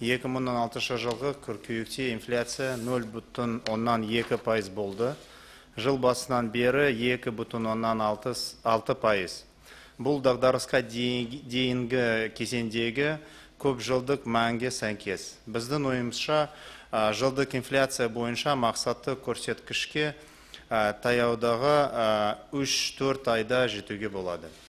2016 жылғы қыркүйекте инфляция 0,2% болды. Жыл басынан бері 2,6%. Бұл дағдарысқа дейінгі кезеңдегі көп жылдық мәнге сәйкес. Біздің ойымызша, жылдық инфляция бойынша мақсатты көрсеткішке таяудағы 3-4 айда жетуге болады.